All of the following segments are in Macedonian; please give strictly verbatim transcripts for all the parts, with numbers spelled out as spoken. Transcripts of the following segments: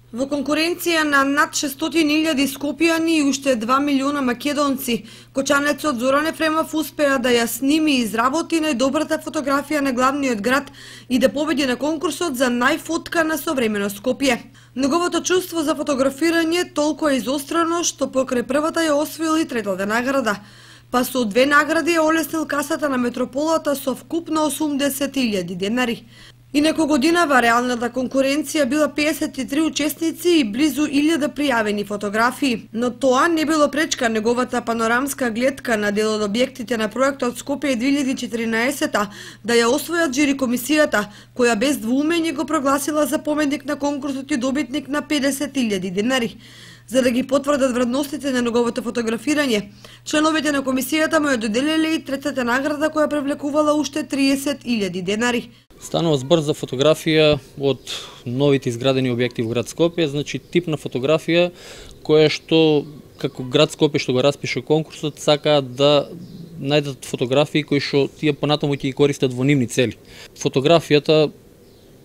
Во конкуренција на над шестстотини илјади скопјани и уште два милиона македонци, кочанецот Зоран Ефремов успеа да ја сними и изработи најдобрата фотографија на главниот град и да победи на конкурсот за најфотка на современо Скопје. Неговото чувство за фотографирање толку е изострено што покрај првата ја освоил и третата награда, па со две награди ја олеснил касата на метрополата со вкупно осумдесет илјади денари. Инаку годинава реалната конкуренција била педесет и три учесници и близу илјада пријавени фотографии, но тоа не било пречка неговата панорамска гледка на дел од објектите на проектот Скопје две илјади и четиринаесета да ја освојат жири комисијата, која без двоумење го прогласила за победник на конкурсот и добитник на педесет илјади денари. За да ги потврдат вредностите на неговото фотографирање, членовите на комисијата му ја доделиле и третата награда која привлекувала уште триесет илјади денари. Станува збор за фотографија од новите изградени објекти во град Скопје, значи тип на фотографија која што како град Скопје што го распише конкурсот сакаат да најдат фотографии кои што тие понатаму ќе ги користат во нивни цели. Фотографијата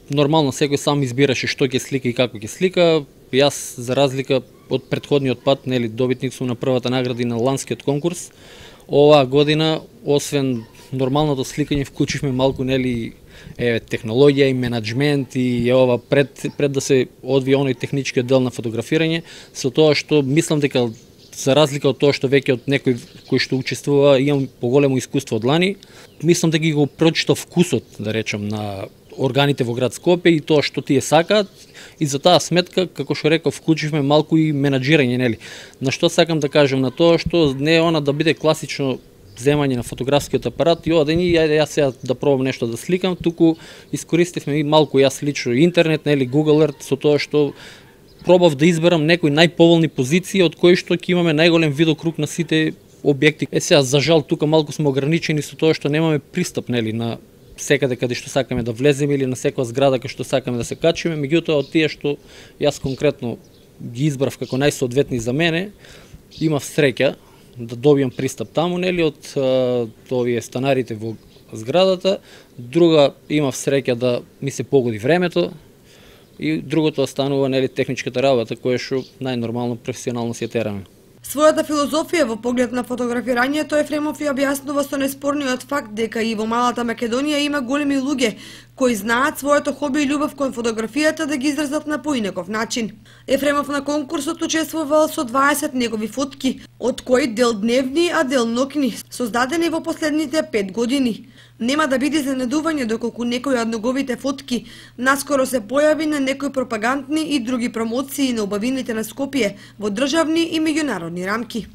нормално секој сам избираше што ќе слика и како ќе слика. Јас за разлика од претходниот пат, нели, добитник сум на првата награда на ланскиот конкурс. Оваа година, освен нормалното сликање, вклучивме малку, нели, е, технологија и менаџмент и е ова пред пред да се одвие оној техничкиот дел на фотографирање, со тоа што мислам дека за разлика од тоа што веќе од некој кој што учествува имам поголемо искуство од лани, мислам дека ги го прочитав вкусот, да речам, на органите во град Скопје и тоа што тие сакаат, и за таа сметка, како што реков, вклучивме малку и менаџирање, нели. На што сакам да кажам на тоа што не е она да биде класично земање на фотографскиот апарат и оден и ајде јас сега да пробам нешто да сликам, туку искористивме и малку јас лично интернет, нели, Google Earth, со тоа што пробав да изберам некои најповолни позиции од кои што ќе имаме најголем видокруг на сите објекти. Е сега за жал тука малку сме ограничени со тоа што немаме пристап, нели, на секаде каде што сакаме да влеземе или на секоја зграда кај што сакаме да се качиме, меѓутоа од тие што јас конкретно ги избрав како најсоодветни за мене, имав среќа да добијам пристап таму, нели, од а, овие станарите во зградата. Друга, имав среќа да ми се погоди времето и другото останува, нели, техничката работа која што најнормално професионално си ја тераме. Својата филозофија во поглед на фотографирањето Ефремов ја објаснува со неспорниот факт дека и во малата Македонија има големи луѓе кои знаат своето хоби и љубов кон фотографијата да ги изразат на поинаков начин. Ефремов на конкурсот учествувал со дваесет негови фотки, од кои дел дневни, а дел ноќни, создадени во последните пет години. Нема да биде изненадување доколку некои од неговите фотки наскоро се појави на некои пропагандни и други промоции на убавините на Скопје во државни и меѓународни рамки.